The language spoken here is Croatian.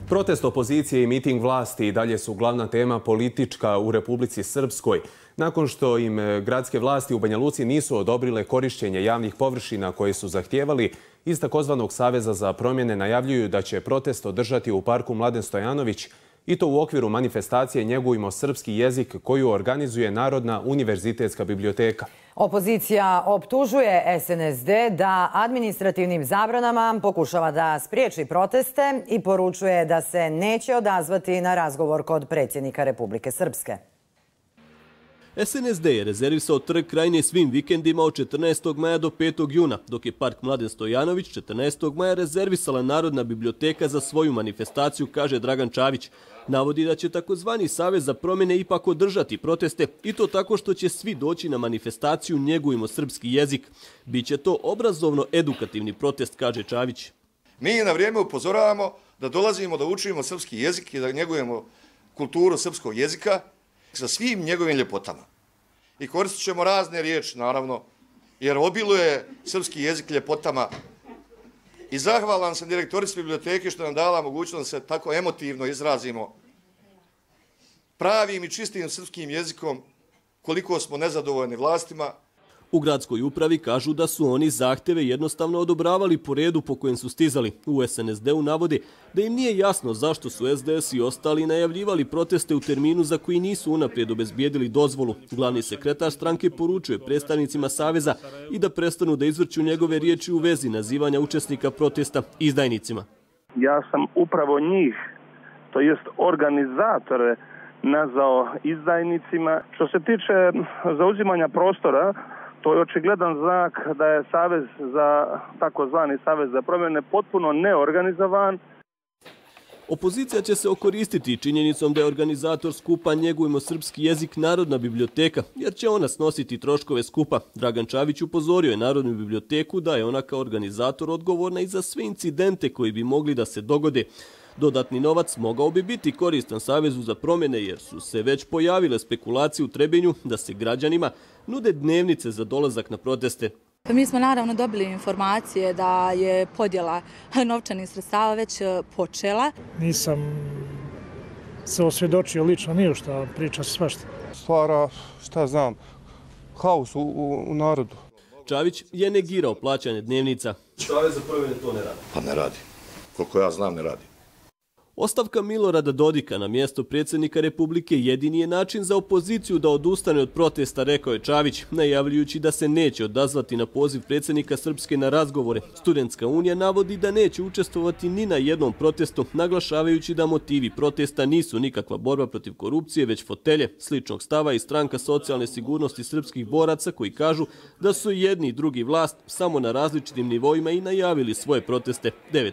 Protest opozicije i miting vlasti i dalje su glavna tema politička u Republici Srpskoj. Nakon što im gradske vlasti u Banja Luci nisu odobrile korišćenje javnih površina koje su zahtijevali, iz takozvanog Saveza za promjene najavljuju da će protest održati u parku Mladen Stojanović, i to u okviru manifestacije Njegujmo srpski jezik koju organizuje Narodna univerzitetska biblioteka. Opozicija optužuje SNSD da administrativnim zabranama pokušava da spriječi proteste i poručuje da se neće odazvati na razgovor kod predsjednika Republike Srpske. SNSD je rezervisao trg Krajine svim vikendima od 14. maja do 5. juna, dok je park Mladen Stojanović 14. maja rezervisala Narodna biblioteka za svoju manifestaciju, kaže Dragan Čavić. Navodi da će takozvani Savez za promjene ipak održati proteste, i to tako što će svi doći na manifestaciju Njegujmo srpski jezik. Biće to obrazovno-edukativni protest, kaže Čavić. Mi na vrijeme upozoravamo da dolazimo da učimo srpski jezik i da njegujemo kulturu srpskog jezika sa svim njegovim ljepotama. I koristit ćemo razne riječi, naravno, jer obiluje srpski jezik ljepotama. I zahvalan sam direktorici biblioteke što nam dala mogućnost da se tako emotivno izrazimo pravim i čistim srpskim jezikom, koliko smo nezadovoljni vlastima. U gradskoj upravi kažu da su oni zahtjeve jednostavno odobravali po redu po kojem su stizali. U SNSD-u navode da im nije jasno zašto su SDS i ostali najavljivali proteste u terminu za koji nisu unaprijed obezbijedili dozvolu. Glavni sekretar stranke poručuje predstavnicima Saveza i da prestanu da izvrću njegove riječi u vezi nazivanja učesnika protesta izdajnicima. Ja sam upravo njih, to jest organizatore, nazvao izdajnicima. Što se tiče zauzimanja prostora, to je očigledan znak da je Savez za, takozvani Savez za promjene, potpuno neorganizovan. Opozicija će se okoristiti činjenicom da je organizator skupa Njegujmo srpski jezik Narodna biblioteka, jer će ona snositi troškove skupa. Dragan Čavić upozorio je Narodnu biblioteku da je ona kao organizator odgovorna i za sve incidente koji bi mogli da se dogode. Dodatni novac mogao bi biti koristan Savezu za promjene, jer su se već pojavile spekulacije u Trebinju da se građanima nude dnevnice za dolazak na proteste. Mi smo naravno dobili informacije da je podjela novčanih sredstava već počela. Nisam se osvjedočio lično nije šta, priča se svašta. Stvara, šta znam, haos u narodu. Čavić je negirao plaćanje dnevnica. Savez za promjene to ne radi. Pa ne radi. Koliko ja znam, ne radi. Ostavka Milorada Dodika na mjesto predsjednika Republike jedini je način za opoziciju da odustane od protesta, rekao je Čavić, najavljujući da se neće odazvati na poziv predsjednika Srpske na razgovore. Studentska unija navodi da neće učestvovati ni na jednom protestu, naglašavajući da motivi protesta nisu nikakva borba protiv korupcije, već fotelje. Sličnog stava i stranka socijalne sigurnosti srpskih boraca koji kažu da su jedni i drugi vlast samo na različitim nivoima i najavili svoje proteste. 9.